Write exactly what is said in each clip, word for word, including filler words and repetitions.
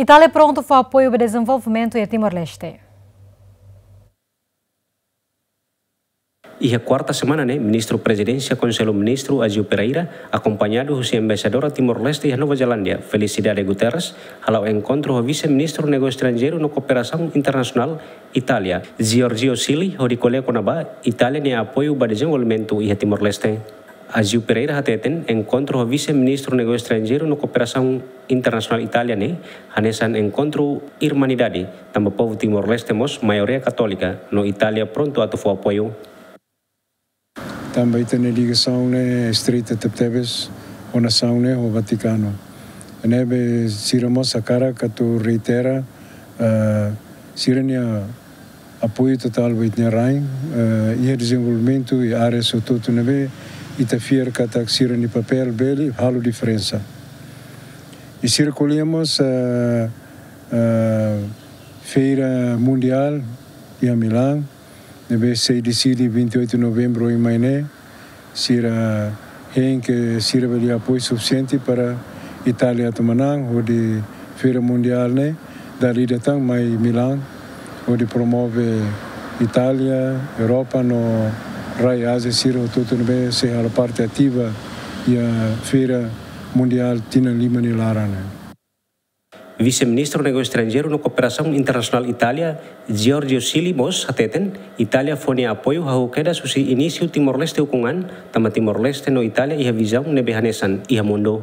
Itália prontu fó apoiu ba dezenvolvimentu iha Timor-Leste. Iha kuarta semana ne'e, Ministru Prezidénsia Konsellu Ministru Aziu Pereira, akompañadu husi Embaixadora Timor-Leste iha Nova Zelándia, Felicidade Guterres, hala'o enkontru ho Vise-Ministru Negósiu Estranjeiru no Kooperasaun Internasionál Itália, Giorgio Silli, hodi ko'alia kona-ba Itália nia apoiu ba dezenvolvimentu iha Timor-Leste. Aziu Pereira hateten, enkontru ho Vise-Ministru Negósiu Estranjeiru no Kooperasaun Internasionál Itália ne'e hanesan enkontru irmanidade, tanba povu Timor-Leste mós maioria katólika, no Itália prontu atu fó apoiu. Tanba ita-nia ligasaun ne'e estreita tebetebes ho nasaun ne'e, ho Vatikanu. Ne'ebé sira mós hakarak atu reitera, ah, sira-nia apoiu totál ba ita-nia rain, eh, iha dezenvolvimentu iha área hotu-hotu ne'ebé ita fiar katak sira-nia papél bele halo diferensa. I sira ko'alia mós, eh, eh, Feira Mundiál iha Milán, ne'ebé sei deside vinte e oito de novembro oin mai ne'e, sira hein ke sira bele apoiu sufisiente para Itália atu manán hodi Feira Mundiál ne'e dala ida tan mai Milán, hodi promove Itália, Europa no rai Ázia sira hotu-hotu ne'ebé sei halo parte ativa iha Feira Mundiál tinan lima nia laran ne'e. Vise-Ministru Negósiu Estranjeiru no Kooperasaun Internasionál Itália, Giorgio Silli mós hateten, Itália fó nia apoiu hahú kedas husi inísiu Timor-Leste ukun an, tanba Timor-Leste no Itália iha vizaun ne'ebé hanesan iha mundu.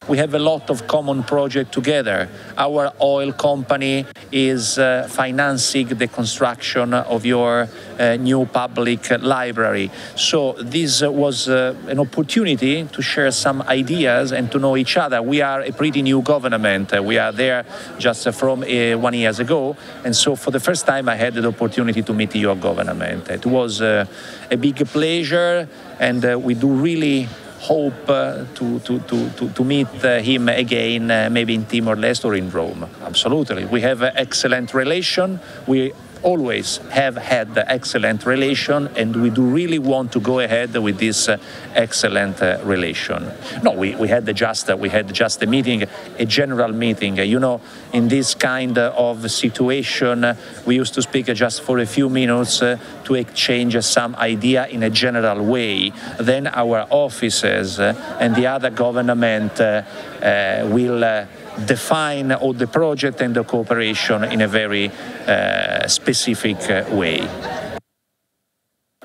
We have a lot of common project together. Our oil company is, uh, financing the construction of your, uh, new public library. So this, uh, was, uh, an opportunity to share some ideas and to know each other. We are a pretty new government. Uh, we are there just, uh, from, uh, one years ago. And so for the first time, I had the opportunity to meet your government. It was, uh, a big pleasure, and, uh, we do really hope, uh, to, to, to, to, to meet, uh, him again, uh, maybe in Timor-Leste or in Rome. Absolutely. We have, uh, excellent relation. We always have had excellent relation, and we do really want to go ahead with this, uh, excellent, uh, relation. No, we, we had the just, uh, we had just a meeting, a general meeting. Uh, you know, in this kind of situation, uh, we used to speak just for a few minutes, uh, to exchange some idea in a general way. Then our offices, uh, and the other government, uh, uh, will, uh, define all the project and the cooperation in a very, uh, specific, uh, way.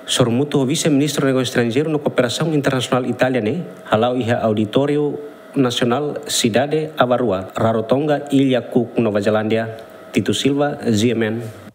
Sorumutu ho Vise-Ministru Negósiu Estranjeiru no Kooperasaun Internasionál Itália ne'e hala'o iha Auditóriu Nasionál Sidade Avarua, Rarotonga, Ilha Cook, Nova Zelándia. Tito Silva, G M N.